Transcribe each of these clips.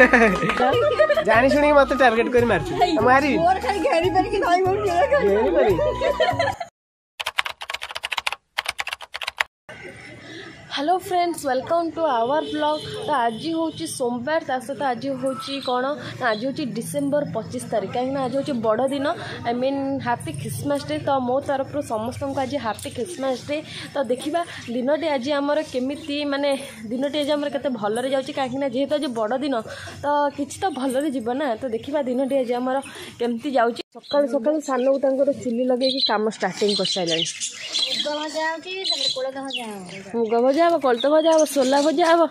ଜାଣି ଶୁଣିକି ମତେ ଟାର୍ଗେଟ କରି ମାରୁଛୁ। ମୁଁ ହାରିବି। ଘେରି ପାରି। Hello friends, welcome to our vlog. ତ ଆଜି ହେଉଛି ସୋମବାର, ତା ସହିତ ଆଜି ହେଉଛି କ'ଣ ନା ଆଜି ହେଉଛି ଡିସେମ୍ବର 25 ତାରିଖ, କାହିଁକିନା ଆଜି ହେଉଛି ବଡ଼ ଦିନ, I mean happy Christmas day. ତ ମୋ ତରଫରୁ ସମସ୍ତଙ୍କୁ ଆଜି ହାପି ଖ୍ରୀଷ୍ଟମାସ ଡେ। ତ ଦେଖିବା ଦିନଟି ଆଜି ଆମର କେମିତି, ମାନେ ଦିନଟି ଆଜି ଆମର କେତେ ଭଲରେ ଯାଉଛି, କାହିଁକିନା ଯେହେତୁ ଆଜି ବଡ଼ ଦିନ ତ କିଛି ତ ଭଲରେ ଯିବ ନା। ତ ଦେଖିବା ଦିନଟି ଆଜି ଆମର କେମିତି ଯାଉଛି। ସକାଳୁ ସକାଳୁ ସାନକୁ ତାଙ୍କର ଚୁଲି ଲଗେଇକି କାମ ଷ୍ଟାର୍ଟିଂ କରିସାରିଲାଣି। ମୁଗ ଭଜା ହବ, କୋଳଥ ଭଜା ହବ, ସୋଲା ଭଜା ହବ,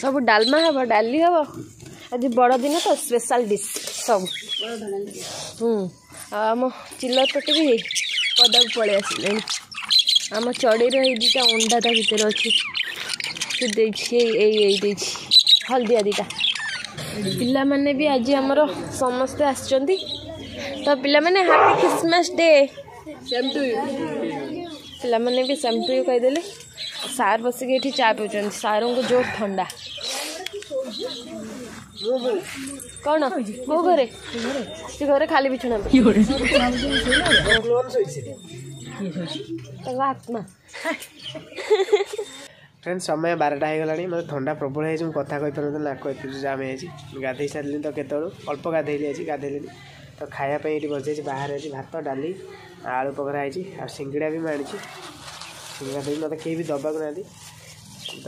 ସବୁ ଡାଲମା ହବ, ଡାଲି ହବ। ଆଜି ବଡ଼ ଦିନ ତ ସ୍ପେଶାଲ ଡିସ୍ ସବୁ। ଆଉ ଆମ ଚିଲର ପେଟି ବି ପଦାକୁ ପଳେଇ ଆସିଲେଣି। ଆମ ଚଢ଼େଇର ଏଇ ଦୁଇଟା ଅଣ୍ଡା ତା ଭିତରେ ଅଛି, ସେ ଦେଇଛି, ଏଇ ଏଇ ଦେଇଛି ହଳଦିଆ ଦୁଇଟା। ପିଲାମାନେ ବି ଆଜି ଆମର ସମସ୍ତେ ଆସିଛନ୍ତି। ତ ପିଲାମାନେ ହାପି ଖ୍ରୀଷ୍ଟମାସ ଡେ। ପିଲାମାନେ ବି ସେମ୍ ଟୁ you କହିଦେଲେ। ସାର୍ ବସିକି ଏଠି ଚା ପିଉଛନ୍ତି। ସାର୍ଙ୍କୁ ଜୋର ଥଣ୍ଡା। କ'ଣ କୋଉ ଘରେ? ସେ ଘରେ ଖାଲି ବିଛଣା, ତାଙ୍କ ଆତ୍ମା। ଫ୍ରେଣ୍ଡ, ସମୟ 12ଟା ହେଇଗଲାଣି। ମୋତେ ଥଣ୍ଡା ପ୍ରବଳ ହେଇଛି, ମୁଁ କଥା କହିପାରୁନଥିଲି, ନାକ ଏତେ ଜାମ୍ ହେଇଯାଇଛି। ଗାଧେଇ ସାରିଲିଣି ତ କେତେବେଳୁ, ଅଳ୍ପ ଗାଧେଇଲି ଆଜି, ଗାଧେଇଲିନି ତ। ଖାଇବା ପାଇଁ ଏଇଠି ବସିଯାଇଛି ବାହାରେ। ଆଜି ଭାତ, ଡାଲି, ଆଳୁ ପକୋଡ଼ା ହେଇଛି ଆଉ ସିଙ୍ଗଡ଼ା ବି ମୁଁ ଆଣିଛି। ସିଙ୍ଗଡ଼ା ଦେବି, ମୋତେ କେହି ବି ଦେବାକୁ ନାହାନ୍ତି ତ,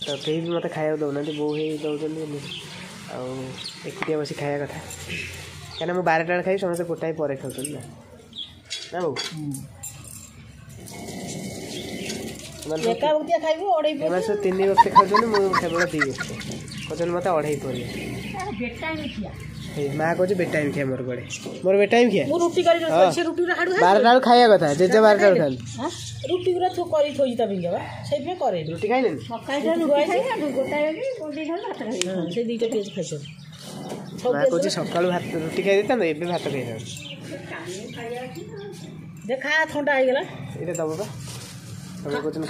ତ କେହି ବି ମୋତେ ଖାଇବାକୁ ଦେଉନାହାନ୍ତି, ବୋଉ ହେଇ ଦେଉଛନ୍ତି ଆଉ ଏକୁଟିଆ ବସି ଖାଇବା କଥା। କାହିଁକିନା ମୁଁ 12ଟା ବେଳେ ଖାଇବି, ସମସ୍ତେ ଗୋଟାଏ ପରେ ଖାଉଛନ୍ତି ନା। ନା ବୋଉ, ଏମାନେ ସବୁ 3 ବକ୍ତ ଖାଉଛନ୍ତି, ମୁଁ କେବଳ 2 ବକ୍ତ। କହୁଛନ୍ତି ମୋତେ ଅଢ଼େଇ ପରିବା। ମା କହୁଛି ବେଟାଇମ୍ ଖିଆ ମୋର କୁଆଡ଼େ, ମୋର ବେଟାଇମ୍ ଖିଆ। 12ଟା ବେଳକୁ ଖାଇବା କଥା, ଜେଜେ 12ଟା ବେଳକୁ ଖାଆନ୍ତି। ରୁଟି ଗୁରା କରି ଥୋଇଛି ତା ପିଙ୍ଗା ବା, ସେଇଥିପାଇଁ କରେ। ରୁଟି ଖାଇଲେନି? ସେ 2ଟା ପିଆଜ ଖାଇଛନ୍ତି। ମା କହୁଛି ସକାଳୁ ଭାତ ରୁଟି ଖାଇ ଦେଇଥାନ୍ତ, ଏବେ ଭାତ ଖାଇଥାନ୍ତ। ଦେଖା ଥଣ୍ଡା ହେଇଗଲା। ଏଇଟା ଦବ ବା, ତମେ କହୁଛନ୍ତି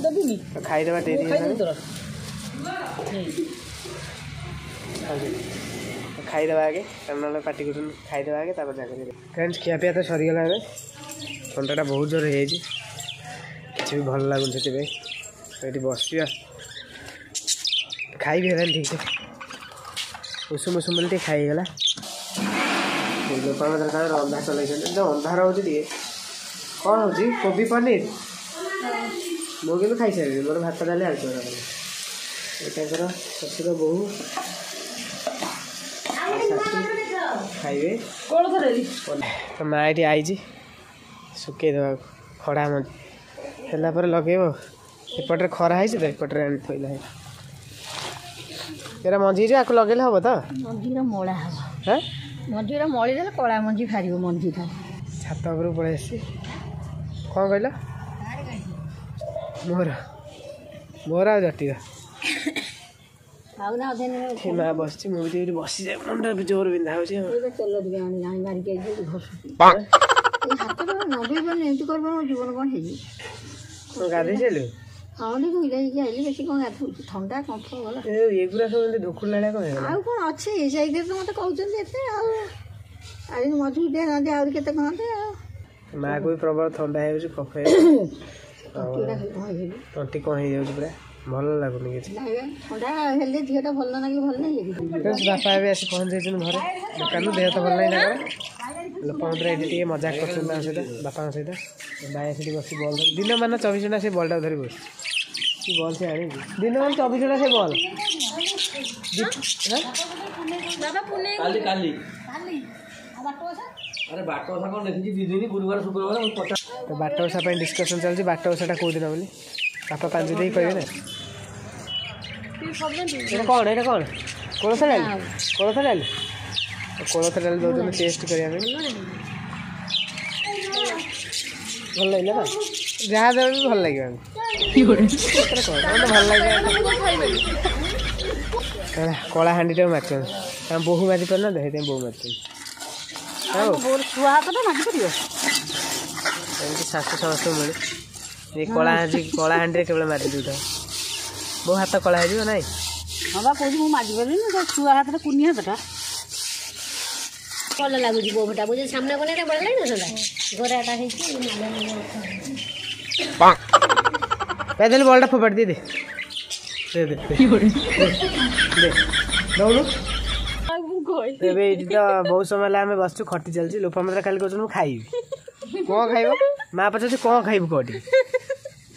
ଦେବିନି। ଖାଇଦେବା ଡେରି ହେଇଗଲାଣି, ଖାଇଦେବା ଆଗେ, କାରଣ ନହେଲେ ପାଟି କରୁଛନ୍ତି। ଖାଇଦେବା ଆଗେ, ତାପରେ ଯାହା କରିବେ। ଫ୍ରେଣ୍ଡସ୍, ଖିଆପିଆ ତ ସରିଗଲା। ଏବେ ଥଣ୍ଡାଟା ବହୁତ ଜୋର ହେଇଯାଇଛି, କିଛି ବି ଭଲ ଲାଗୁନି, ସେଥିପାଇଁ ତ ଏଠି ବସିବା। ଖାଇବି ହେଲାନି ଠିକ୍ ସେ, ଉଷୁମ ଉଷୁମ ବୋଲି ଟିକେ ଖାଇ ହେଇଗଲା। ଲୋକଙ୍କ ତାଙ୍କର ରନ୍ଧା ଚଲେଇଛନ୍ତି ତ, ଅନ୍ଧାର ହେଉଛି ଟିକେ। କ'ଣ ହେଉଛି? କୋବି ପନିର। ମୁଁ କିନ୍ତୁ ଖାଇସାରିଲିଣି, ମୋର ଭାତ, ଡାଲି, ଆଳୁ ଚକଟା। ଏ ତାଙ୍କର ଶ୍ୱଶୁର, ବୋହୂ, ଶାଶୁ ଖାଇବେ। ତ ମା ଏଠି ଆଇଛି ଶୁକେଇ ଦେବାକୁ, ଖଡ଼ା ମଞ୍ଜି ହେଲା ପରେ ଲଗେଇବ। ଏପଟରେ ଖରା ହେଇଛି ତ ଏପଟରେ ଆଣି ଥୋଇଲା। ଏରା ମଞ୍ଜି ହେଇଯିବ, ଆକୁ ଲଗେଇଲେ ହବ ତ? ମଞ୍ଜିର ମଳା ହବ। ମଞ୍ଜିର ମଳି ଦେଲେ କଳା ମଞ୍ଜି ବାହାରିବ ମଞ୍ଜିଟା। ଛାତ ଉପରକୁ ପଳେଇ ଆସିଛି। କ'ଣ କହିଲ? ମୋର ମୋର ଆଉ ଜଟିର। ମା ବସିଛି, ମୁଁ ବି ଟିକେ ବସିଯାଏ, ମୁଣ୍ଡ ଜୋର ବିନ୍ଧା ହଉଛି। ତେଲ ଟିକେ ଆଣି ଆଣି ମାରିକି ଘଷୁଛି ହାତରେ। ନଗେଇ ପାରୁନି, ଏମିତି କରିପାରୁନି, ଜୀବନ କ'ଣ ହେଇଯିବ। ଗାଧେଇ ସାରିଲୁ? ହଁ, ଟିକେ ଧୋଇ ହେଇକି ଆଇଲି। ବେଶୀ କ'ଣ ଗାଧଉଛି, ଥଣ୍ଡା କମ୍ଫ ଗଲା। ଏଗୁରା ସବୁ ଏମିତି ଢୋକୁଲା ଭଳିଆ କ'ଣ ହେଇଗଲା? ଆଉ କ'ଣ ଅଛି ସେଇଥିରେ ତ ମୋତେ କହୁଛନ୍ତି ଏତେ, ଆଉ ଆଜି ମଜବୁତିଆ ନାହାନ୍ତି, ଆହୁରି କେତେ କହନ୍ତି। ଆଉ ମାଆକୁ ବି ପ୍ରବଳ ଥଣ୍ଡା ହେଇଯାଉଛି, କଫ, ତଣ୍ଟି କ'ଣ ହେଇଯାଉଛି, ପୁରା ଭଲ ଲାଗୁନି କିଛି। ଥଣ୍ଡା ହେଲେ ଦେହଟା ଭଲ ଲାଗିଲେ ଭଲ ନାହିଁ। ବାପା ଏବେ ଆସି ପହଞ୍ଚି ଯାଇଛନ୍ତି ଘରେ ଦୋକାନରୁ। ଦେହ ତ ଭଲ ନାହିଁ ତାଙ୍କର। ଲୋକମନ୍ତ୍ର ଏଠି ଟିକେ ମଜାକ କରୁଛନ୍ତି ତାଙ୍କ ସହିତ, ବାପାଙ୍କ ସହିତ। ଭାଇ ସେଠି ବସି ବଲ୍ ଧରି ଦିନମାନ 24 ଘଣ୍ଟା ସେ ବଲ୍ଟାକୁ ଧରି ବସିଛି। କି ବଲ୍ ସେ ଆଣିଛି, ଦିନମାନ 24 ଘଣ୍ଟା ସେ ବଲ୍। ତ ବାଟ ଓଷା ପାଇଁ ଡିସ୍କସନ୍ ଚାଲିଛି, ବାଟ ଓଷାଟା କେଉଁ ଦିନ ବୋଲି ବାପା ପାଞ୍ଜି ଦେଇ କହିବେ ନା। ଏଇଟା କ'ଣ? ଏଇଟା କ'ଣ? କୋଳଥ ଡାଲି? କୋଳଥ ଡାଲି, କୋଳଥ ଡାଲି ଦେଉଛନ୍ତି ଟେଷ୍ଟ କରିବା ପାଇଁ। ଭଲ ଲାଗିଲା ତ? ଯାହା ଦେବେ ବି ଭଲ ଲାଗିବ। କ'ଣ ଭଲ ଲାଗିବ? କଳାହାଣ୍ଡିଟାକୁ ମାରିଛନ୍ତି, ତାଙ୍କ ବୋହୂ ମାରି ପାରୁନାହାନ୍ତି, ସେଥିପାଇଁ ବୋହୂ ମାରିଛନ୍ତି। ଛୁଆ ହାତ ମାଜିପାରିବ? ଏମିତି ଶାଶୁ ସମସ୍ତଙ୍କୁ ମିଳେ। ଏ କଳାହାଣ୍ଡି, କଳାହାଣ୍ଡିରେ କେବଳ ମାରି ଦେଉଥାଉ, ବୋଉ ହାତ କଳା ହେଇଯିବ ନାଇଁ। ହଁ ବା କହୁଛି ମୁଁ ମାଜି ପାରିବିନି, ତା ଛୁଆ ହାତଟା କୁନି ହାତଟା। ଭଲ ଲାଗୁଛି ବୋଉଟା ବୁଝି ସାମ୍ନା କଲେ ଏଇଟା ବଢ଼ିଆ ଲାଗିନଥାନ୍ତା। ଗୋରାଟା ହେଇଛି। ଦେଲେ ବଲଟା ଫୋପାଡ଼ି ଦେ, ଦେ ଦେ ଦେ ଦଉନୁ। ଏବେ ଏଇଠି ତ ବହୁତ ସମୟ ହେଲା ଆମେ ବସିଛୁ, ଖଟି ଚାଲିଛି। ଲୋପାମୁଦ୍ରା ଖାଲି କହୁଛନ୍ତି ମୁଁ ଖାଇବି। କଣ ଖାଇବ? ମା ପଚାରୁଛି କଣ ଖାଇବୁ କହ ଟିକେ।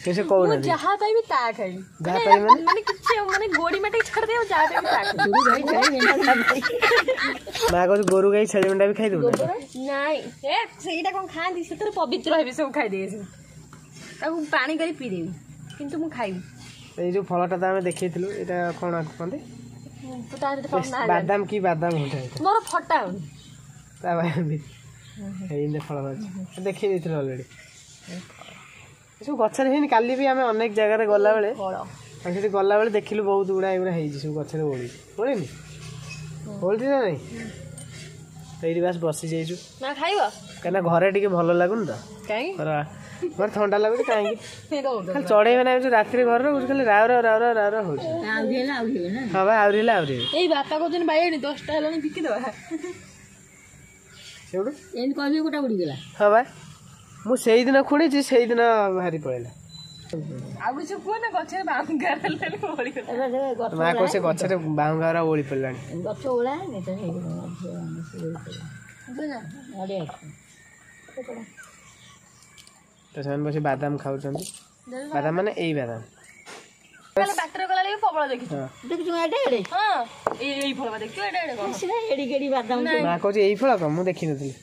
ସେ କହୁନାହାନ୍ତି। ଯାହା ପାଇବି ତା ଖାଇବି। ଯାହା ପାଇବି ମାନେ? ମାନେ କିଛି ମାନେ ଗୋଡି ମାଟି ଛାଡ଼ିଦେ, ଆଉ ଯାହା ପାଇବି ତା ଖାଇବି। ମା କହୁଛି ଗୋରୁ ଗାଈ ଛେଳି ମେଣ୍ଢା ବି ଖାଇଦବୁ? ନାଇଁ, ଏ ସେଇଟା କଣ ଖାଆନ୍ତି? ସେଥିରେ ପବିତ୍ର ହେବି, ସବୁ ଖାଇଦେବି, ସବୁ ତାକୁ ପାଣି କରି ପିଇଦେବି, କିନ୍ତୁ ମୁଁ ଖାଇବି। ଏଇ ଯୋଉ ଫଳଟା ତ ଆମେ ଦେଖେଇଥିଲୁ, ଏଇଟା କଣ କୁହନ୍ତି? ବାଦାମ କି ବାଦାମ ଗୋଟେ? ମୋର ଫଟା ତା ଏଇ ଫଳ ଅଛି, ଦେଖେଇ ଦେଇଥିଲୁ ଅଲରେଡି। ଏସବୁ ଗଛରେ ହେଇନି। କାଲି ବି ଆମେ ଅନେକ ଜାଗାରେ ଗଲାବେଳେ, ଆମେ ସେଠି ଗଲାବେଳେ ଦେଖିଲୁ ବହୁତ ଗୁଡ଼ା ଏଗୁଡ଼ା ହେଇଛି ସବୁ ଗଛରେ। ଓଳିଛି, ଓଳିନି? ଓଳିଛି ନା ନାଇଁ? ଏଇଠି ବାସ୍ ବସି ଯାଇଛୁ। ଖାଇବ କାହିଁକିନା ଘରେ ଟିକେ ଭଲ ଲାଗୁନି ତ, ଘରେ ଥଣ୍ଡା ଲାଗୁଛି। କାହିଁକି ଖାଲି ଚଢେଇ ମାନେ ଯୋଉ ରାତିରେ ଘରେ ରହୁଛି, ଖାଲି ରାଉ ରାଉ ରାଉ ରାଉ ରାଉ ରାଉ ହଉଛି। ହଁ ବା, ଆହୁରି ହେଲା ଆହୁରି। ଏଇ ବାପା କହୁଛନ୍ତି ବାଇଗଣି 10ଟା ହେଲାଣି, ବିକିଦେବା। ସେଇଠୁ ଏମିତି କହିବି ଗୋଟା ଉଡ଼ିଗଲା। ହଁ ବା, ମୁଁ ସେଇଦିନ ଖୁଣିଛି, ସେଇଦିନ ବାହାରି ପଳେଇଲା। ଆଉ କିଛି କୁହ ନା। ଗଛରେ ବାହୁଙ୍ଗା ହେଲାଣି। ମା କହୁଛି ସେ ଗଛରେ ବାହୁଙ୍ଗା ଓଳି ପଡ଼ିଲାଣି। ଗଛ ଓଳା। ତ ସେମାନେ ବସି ବାଦାମ ଖାଉଛନ୍ତି। ବାଦାମ ମାନେ ଏଇ ବାଦାମ। ବାଟରେ ଗଲାବେଳେ ପ୍ରବଳ ଦେଖିଛୁ। ଦେଖିଛୁ ଏଡେ ଏଡେ? ହଁ, ଏଇ ଫଳ ଦେଖିଛୁ ଏଡେ ଏଡେ? କଣ ଏଡିକି ଏଡି ବାଦାମ? ମା କହୁଛି ଏଇ ଫଳ କଣ, ମୁଁ ଦେଖିନଥିଲି।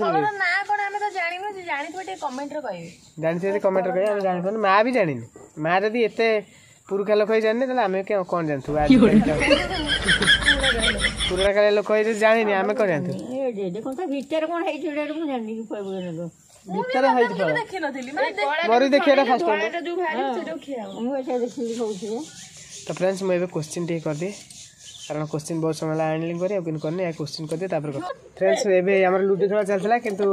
ଫଳର ନାଁ କଣ ଆମେ ତ ଜାଣିନୁ। ଜାଣିଥିବେ ଟିକେ କମେଣ୍ଟରେ କହିବେ। ଜାଣିଥିବେ କମେଣ୍ଟରେ କହିବେ। ଆମେ ଜାଣିପାରୁନୁ, ମା ବି ଜାଣିନି। ମା ଯଦି ଏତେ ପୁରୁଖା ଲୋକ ହେଇ ଜାଣିନି, ତାହେଲେ ଆମେ କଣ ଜାଣିଥିବୁ? ପୁରୁଣା କାଳିଆ ଲୋକ ହେଇ ଯଦି ଜାଣିନି, ଆମେ କଣ ଜାଣିଥିବୁ? ଭିତରେ କଣ ହେଇଛି ମୁଁ ଜାଣିନି। ଭିତରେ ହେଇଛି ଫଳ ମୋର ବି ଦେଖିବାଟା ଫାଷ୍ଟ ଟାଇମ୍। ମୁଁ ଏଇଟା ଦେଖିବି କହୁଛି। ତ ଫ୍ରେଣ୍ଡସ୍, ମୁଁ ଏବେ କୋଶ୍ଚିନ୍ ଟିକେ କରିଦିଏ, କାରଣ କୋଶ୍ଚିନ୍ ବହୁତ ସମୟ ହେଲା ଆଣିଲି କରି, ଆଉ କିନ୍ତୁ କରିନି। କୋଶ୍ଚିନ୍ କରିଦିଏ ତାପରେ। ଫ୍ରେଣ୍ଡସ୍, ଏବେ ଆମର ଲୁଡୁ ଖେଳ ଚାଲିଥିଲା, କିନ୍ତୁ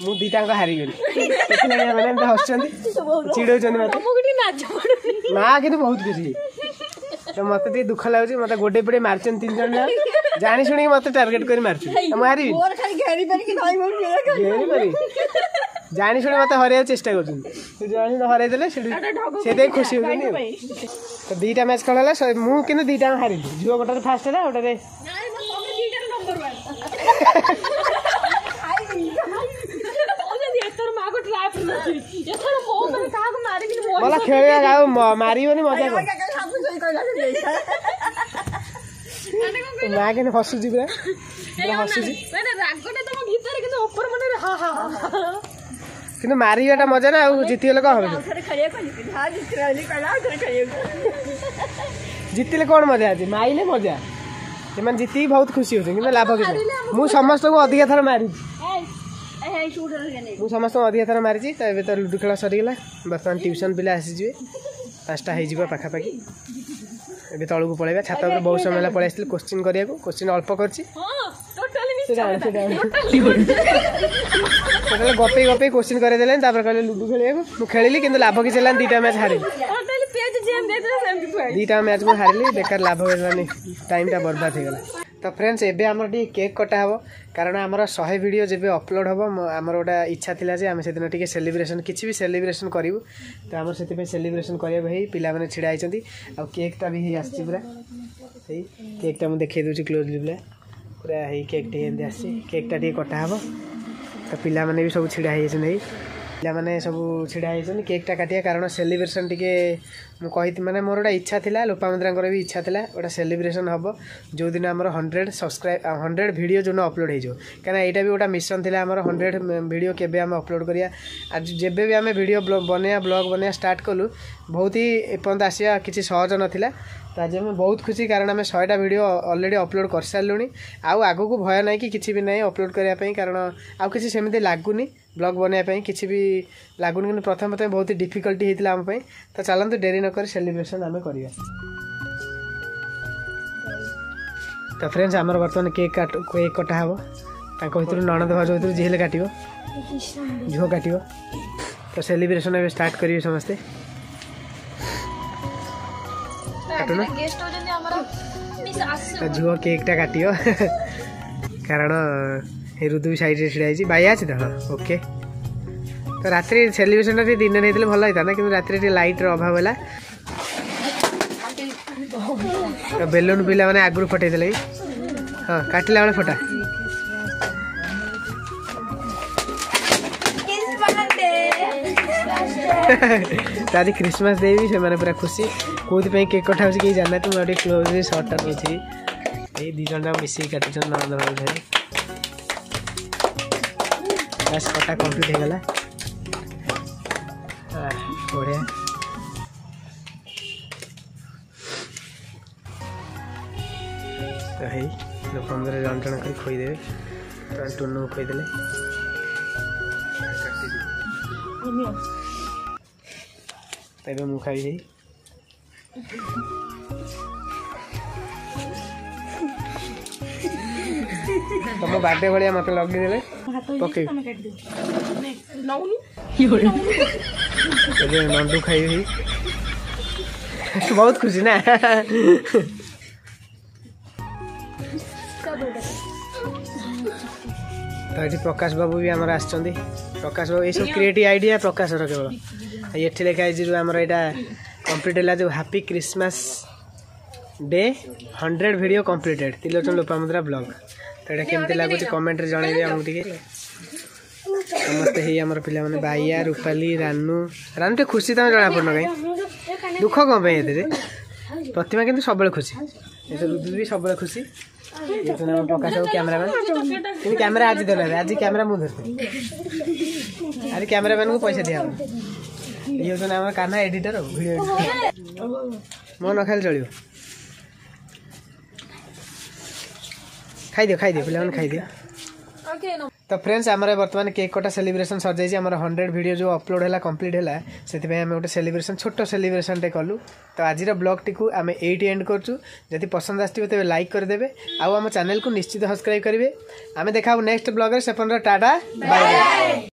ମୁଁ ଦିଟାଙ୍କ ହାରିଗଲି। ସେଥିଲାଗି ଏମାନେ ଏମିତି ହସୁଛନ୍ତି, ଚିଡଉଛନ୍ତି ମତେ। ମା କିନ୍ତୁ ବହୁତ ଖୁସି। ତ ମତେ ଟିକେ ଦୁଃଖ ଲାଗୁଛି। ମତେ ଗୋଡେଇ ପଡେଇ ମାରିଛନ୍ତି ତିନି ଜଣ, ଜାଣି ଶୁଣିକି ମତେ ଟାର୍ଗେଟ କରି ମାରୁଛନ୍ତି। ମୁଁ ହାରିବି, ଜାଣି ଶୁଣି ମତେ ହରେଇବାକୁ ଚେଷ୍ଟା କରୁଛନ୍ତି। ଜାଣି ହରେଇ ଦେଲେ ସେଠି ସେଇଥିପାଇଁ ଖୁସି ହଉଛନ୍ତି। ତ ଦିଟା ମ୍ୟାଚ୍ ଖେଳ ହେଲା, ମୁଁ କିନ୍ତୁ ଦିଟା ହାରିଲି। ଝିଅ ଗୋଟାରେ ଫାଷ୍ଟ ହେଲା, ଗୋଟାରେ ଭଲ ଖେଳିବା। ଆଉ ମାରିବନି, ମଜା କର। ମା କେମିତି ହସୁଛି, ପୁରା ହସୁଛି। କିନ୍ତୁ ମାରିବାଟା ମଜା ନା, ଆଉ ଜିତିଗଲେ କଣ ହବ? ଜିତିଲେ କଣ ମଜା ଅଛି? ମାଇଲେ ମଜା। ସେମାନେ ଜିତିକି ବହୁତ ଖୁସି ହଉଛନ୍ତି, କିନ୍ତୁ ଲାଭ କିଛି। ମୁଁ ସମସ୍ତଙ୍କୁ ଅଧିକା ଥର ମାରିଛି, ମୁଁ ସମସ୍ତଙ୍କୁ ଅଧିକା ଥର ମାରିଛି। ତ ଏବେ ତ ଲୁଡୁ ଖେଳ ସରିଗଲା। ବର୍ତ୍ତମାନ ଟ୍ୟୁସନ୍ ପିଲା ଆସିଯିବେ, 5ଟା ହେଇଯିବ ପାଖାପାଖି। ଏବେ ତଳକୁ ପଳେଇବା, ଛାତ ଉପରେ। ବହୁତ ସମୟ ହେଲା ପଳେଇ ଆସିଥିଲି କୋଶ୍ଚିନ୍ କରିବାକୁ। କୋଶ୍ଚିନ୍ ଅଳ୍ପ କରିଛି। ଟୋଟାଲି ଗପେଇ ଗପେଇ କୋଶ୍ଚିନ୍ କରେଇଦେଲେନି। ତାପରେ କହିଲେ ଲୁଡୁ ଖେଳିବାକୁ, ମୁଁ ଖେଳିଲି, କିନ୍ତୁ ଲାଭ କିଛି ହେଲାନି। ଦିଟା ମ୍ୟାଚ୍ ହାରିଲି, ଦିଟା ମ୍ୟାଚ୍ ମୁଁ ହାରିଲି, ବେକାର ଲାଭ ହେଲାନି, ଟାଇମ୍ଟା ବର୍ବାଦ ହେଇଗଲା। ତ ଫ୍ରେଣ୍ଡସ୍, ଏବେ ଆମର ଟିକେ କେକ୍ କଟା ହେବ, କାରଣ ଆମର 100 ଭିଡ଼ିଓ ଯେବେ ଅପଲୋଡ଼ ହେବ, ଆମର ଗୋଟେ ଇଚ୍ଛା ଥିଲା ଯେ ଆମେ ସେଦିନ ଟିକେ ସେଲିବ୍ରେସନ୍, କିଛି ବି ସେଲିବ୍ରେସନ୍ କରିବୁ। ତ ଆମର ସେଥିପାଇଁ ସେଲିବ୍ରେସନ୍ କରିବାକୁ ହେଇ ପିଲାମାନେ ଛିଡ଼ା ହେଇଛନ୍ତି, ଆଉ କେକ୍ଟା ବି ହେଇ ଆସିଛି ପୁରା। ହେଇ କେକ୍ଟା ମୁଁ ଦେଖେଇ ଦେଉଛି କ୍ଲୋଜଲି। ପୁରା ପୁରା ହେଇ କେକ୍ ଟିକେ ଏମିତି ଆସିଛି। କେକ୍ଟା ଟିକେ କଟା ହେବ। ତ ପିଲାମାନେ ବି ସବୁ ଛିଡ଼ା ହେଇଯାଇଛନ୍ତି। ହେଇ ପିଲାମାନେ ସବୁ ଛିଡ଼ା ହେଇଛନ୍ତି, କେକ୍ଟା କାଟିବା, କାରଣ ସେଲିବ୍ରେସନ୍ ଟିକେ ମୁଁ କହି, ମାନେ ମୋର ଗୋଟେ ଇଚ୍ଛା ଥିଲା, ଲୋପାମୁଦ୍ରାଙ୍କର ବି ଇଚ୍ଛା ଥିଲା, ଗୋଟେ ସେଲିବ୍ରେସନ୍ ହେବ ଯେଉଁଦିନ ଆମର 100 ସବସ୍କ୍ରାଇବ୍, 100 ଭିଡ଼ିଓ ଯେଉଁଦିନ ଅପଲୋଡ଼ ହେଇଯିବ। କାହିଁକିନା ଏଇଟା ବି ଗୋଟେ ମିଶନ୍ ଥିଲା ଆମର, 100 ଭିଡ଼ିଓ କେବେ ଆମେ ଅପଲୋଡ଼ କରିବା। ଆଜି ଯେବେ ବି ଆମେ ଭିଡ଼ିଓ ବନେଇବା, ବ୍ଲଗ୍ ବନେଇବା ଷ୍ଟାର୍ଟ କଲୁ, ବହୁତ ହି ଏପର୍ଯ୍ୟନ୍ତ ଆସିବା କିଛି ସହଜ ନଥିଲା। ତ ଆଜି ଆମେ ବହୁତ ଖୁସି, କାରଣ ଆମେ 100ଟା ଭିଡ଼ିଓ ଅଲରେଡ଼ି ଅପଲୋଡ଼ କରିସାରିଲୁଣି। ଆଉ ଆଗକୁ ଭୟ ନାହିଁ କି କିଛି ବି ନାହିଁ ଅପଲୋଡ଼ କରିବା ପାଇଁ, କାରଣ ଆଉ କିଛି ସେମିତି ଲାଗୁନି, ବ୍ଲଗ୍ ବନେଇବା ପାଇଁ କିଛି ବି ଲାଗୁନି। କିନ୍ତୁ ପ୍ରଥମେ ପ୍ରଥମେ ବହୁତ ଡିଫିକଲ୍ଟି ହେଇଥିଲା ଆମ ପାଇଁ। ତ ଚାଲନ୍ତୁ, ଡେରି ନକରି ସେଲିବ୍ରେସନ୍ ଆମେ କରିବା। ତ ଫ୍ରେଣ୍ଡସ୍, ଆମର ବର୍ତ୍ତମାନ କେକ୍ କାଟ, କେକ୍ କଟା ହେବ। ତାଙ୍କ ଭିତରୁ ନଣନ୍ଦ ଭାଉଜ ଭିତରୁ ଯିଏ ହେଲେ କାଟିବ, ଝିଅ କାଟିବ। ତ ସେଲିବ୍ରେସନ୍ ଏବେ ଷ୍ଟାର୍ଟ କରିବେ ସମସ୍ତେ। କାଟୁନ। ତ ଝିଅ କେକ୍ଟା କାଟିବ, କାରଣ ଏ ଋତୁ ବି ସାଇଡ଼୍ରେ ଛିଡ଼ା ହେଇଛି। ବାଇଆ ଅଛି ତ? ହଁ, ଓକେ। ତ ରାତିରେ ସେଲିବ୍ରେସନଟା ଟିକେ ଦିନରେ ହେଇଥିଲେ ଭଲ ହେଇଥାନ୍ତା, କିନ୍ତୁ ରାତିରେ ଟିକେ ଲାଇଟ୍ର ଅଭାବ ହେଲା। ତ ବେଲୁନ୍ ପିଲାମାନେ ଆଗରୁ ଫଟେଇ ଦେଲେ। ହଁ, କାଟିଲା ବେଳେ ଫଟା। ତ ଆଜି ଖ୍ରୀଷ୍ଟମାସ ଡେ ବି, ସେମାନେ ପୁରା ଖୁସି। କୋଉଥିପାଇଁ କେକ୍ କଟା ହେଉଛି କେହି ଜାଣିନାହାନ୍ତି। ମୁଁ ଆଉ ଟିକେ କ୍ଲୋଜ୍ ସର୍ଟଟା ନେଉଛି। ଏଇ ଦୁଇ ଜଣ ଯାକ ମିଶିକି କାଟୁଛନ୍ତି, ନଣନ୍ଦ ଭାଇ ଭାଇ। ବାସ୍, କଟା କମ୍ପ୍ଲିଟ୍ ହେଇଗଲା। ବଢ଼ିଆ। ତ ହେଇ ଲୋକଙ୍କର ଜଣ ଜଣ କରି ଖୋଇଦେବେ। ତ ଟୁନୁକୁ ଖୋଇଦେଲେ। ତ ଏବେ ମୁଁ ଖାଇବି। ତମ ବାର୍ଥଡେ ଭଳିଆ ମତେ ଲଗେଇଦେଲେ ପକେଇ। ଏବେ ନଣ୍ଡୁ ଖାଇବି, ବହୁତ ଖୁସି ନା? ତ ଏଠି ପ୍ରକାଶ ବାବୁ ବି ଆମର ଆସିଛନ୍ତି। ପ୍ରକାଶ ବାବୁ, ଏଇସବୁ କ୍ରିଏଟିଭ୍ ଆଇଡ଼ିଆ ପ୍ରକାଶର କେବଳ। ଏଠି ଲେଖା ହେଇଛି ଯେଉଁ ଆମର ଏଇଟା କମ୍ପ୍ଲିଟ୍ ହେଲା, ଯେଉଁ happy Christmas day 100 video completed Trilochan Lopamudra blog. ତ ଏଇଟା କେମିତି ଲାଗୁଛି କମେଣ୍ଟରେ ଜଣେଇବେ ଆମକୁ ଟିକେ ସମସ୍ତେ। ହେଇ ଆମର ପିଲାମାନେ, ବାଇଆ, ରୂପାଲି, ରାନୁ। ରାନୁ ଟିକେ ଖୁସି ତମେ ଜଣାପଡ଼ୁନ କାହିଁ, ଦୁଃଖ କ'ଣ ପାଇଁ ଏଥିରେ? ପ୍ରତିମା କିନ୍ତୁ ସବୁବେଳେ ଖୁସି, ରୁଦୁ ବି ସବୁବେଳେ ଖୁସି। ଆମ ପ୍ରକାଶ ବାବୁ କ୍ୟାମେରାମ୍ୟାନ୍, କିନ୍ତୁ କ୍ୟାମେରା ଆଜି ଦେଲେ, ଆଜି କ୍ୟାମେରା ମୁଁ ଧରିଥିଲି। ଆଜି କ୍ୟାମେରାମ୍ୟାନ୍କୁ ପଇସା ଦିଆହବ। ଇଏ ହେଉଛନ୍ତି ଆମର କାହ୍ନା ଏଡିଟର, ଭିଡ଼ିଓ ଏଡିଟର। ମୋ ନ ଖାଇଲେ ଚଳିବ। ଖାଇଦିଅ, ଖାଇଦିଅ ପିଲାମାନେ, ଖାଇଦିଅ। ତ ଫ୍ରେଣ୍ଡସ୍, ଆମର ବର୍ତ୍ତମାନ କେକ୍ କଟା ସେଲିବ୍ରେସନ୍ ସରିଯାଇଛି। ଆମର 100 ଭିଡ଼ିଓ ଯେଉଁ ଅପଲୋଡ଼ ହେଲା, କମ୍ପ୍ଲିଟ୍ ହେଲା, ସେଥିପାଇଁ ଆମେ ଗୋଟେ ସେଲିବ୍ରେସନ୍, ଛୋଟ ସେଲିବ୍ରେସନ୍ଟେ କଲୁ। ତ ଆଜିର ବ୍ଲଗ୍ଟିକୁ ଆମେ ଏଇଠି ଏଣ୍ଡ କରୁଛୁ। ଯଦି ପସନ୍ଦ ଆସିଥିବ ତେବେ ଲାଇକ୍ କରିଦେବେ ଆଉ ଆମ ଚ୍ୟାନେଲକୁ ନିଶ୍ଚିତ ସବସ୍କ୍ରାଇବ୍ କରିବେ। ଆମେ ଦେଖା ନେକ୍ସଟ ବ୍ଲଗ୍ରେ। ସେ ପର୍ଯ୍ୟନ୍ତ ଟାଟା, ବାଏ ବାଏ।